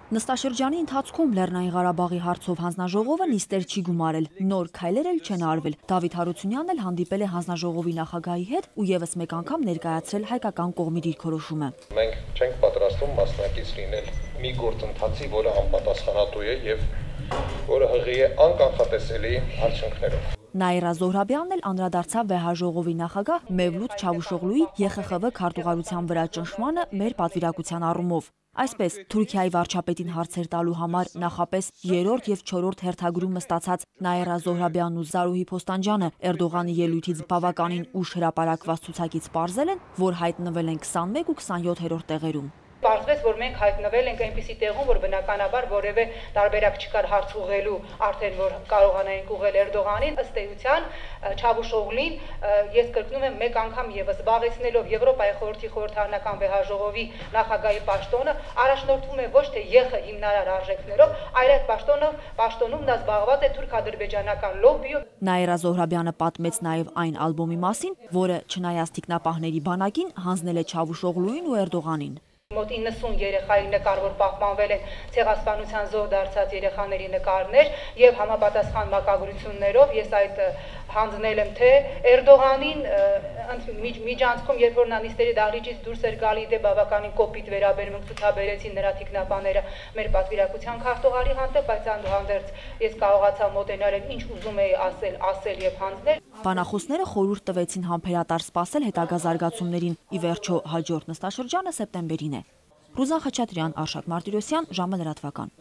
Նստաշրջանի ընթացքում Լեռնային Ղարաբաղի հարցով հանձնաժողովը նիստեր չի գումարել, նոր քայլեր էլ չեն արվել։ Դավիթ Հարությունյանն էլ հանդիպել է հանձնաժողովի նախագահի հետ ու եւս մեկ անգամ ներկայացրել հայկական կողմի դիրքորոշումը։ Մենք չենք պատրաստվում մասնակից լինել մի գործընթացի, որը անպատասխանատու է եւ որը հղի է անկանխատեսելի արդյունքներով։ Նաիրա Զոհրաբյանն էլ անդրադարձավ վեհաժողովի նախագահ Մևլութ Չավուշօղլուի ԵԽԽՎ քարտուղարության վրա ճնշմանը մեր պատվիրակության առումով։ Այսպես, Թուրքիայի վարչապետին հարցեր տալու համար նախապես 3-րդ եւ 4-րդ հերթագրումը ստացած Նաիրա Զոհրաբյանն ու Զարուհի Փոստանջյանը Էրդողանի ելույթից բավականին ուշ հրապարակված ցուցակից պարզել են, որ հայտնվել են 21 ու 27-րդ տեղերում։ Պարզվեց, որ մենք հայտնվել ենք այնպիսի տեղում, որ բնականաբար որևէ տարբերակ չկար հարց ուղղելու, արդեն որ կարողանայինք ուղղել Էրդողանին, ըստ էության Չավուշօղլին, ես կրկնում եմ մեկ անգամ եւս զբաղեցնելով Եվրոպայի խորհրդի խորհրդարանական վեհաժողովի նախագահի պաշտոնը, առաջնորդվում է ոչ թե ԵԽ հիմնարար արժեքներով, այլ այդ պաշտոնում նա զբաղված է թուրք-ադրբեջանական լոբբիով։ Նաիրա Զոհրաբյանը պատմեց նաեւ այն ալբոմի մասին, որը չնայած տիկնապահների բանակին հանձնել է Չավուշօղլուին ու Էրդողանին։ Մոտ 90 երեխայի նկար, որ պահպանվել են ցեղասպանության զոհ դարձած երեխաների նկարներ եւ համապատասխան մակագրություններով ես այդ հանձնել եմ թե Էրդողանին միջանցքում, երբ որ նա նիստերի դահլիճից դուրս էր գալի, դե բավականին կոպիտ վերաբերմունք ցուցաբերեցին նրա թիկնապաները մեր պատվիրակության քարտուղարի հանդեպ, բայց այնուհանդերձ ես կարողացա մոտենալ եւ ինչ ուզում էի ասել եւ հանձնել։ Բանախոսները խորհուրդ տվեցին համբերատար սպասել հետագա զարգացումներին։ Ի վերջո հաջորդ նստաշրջանը սեպտեմբերին է։ Ռուզան Խաչատրյան, Արշակ Մարտիրոսյան, ժամը լրատվական։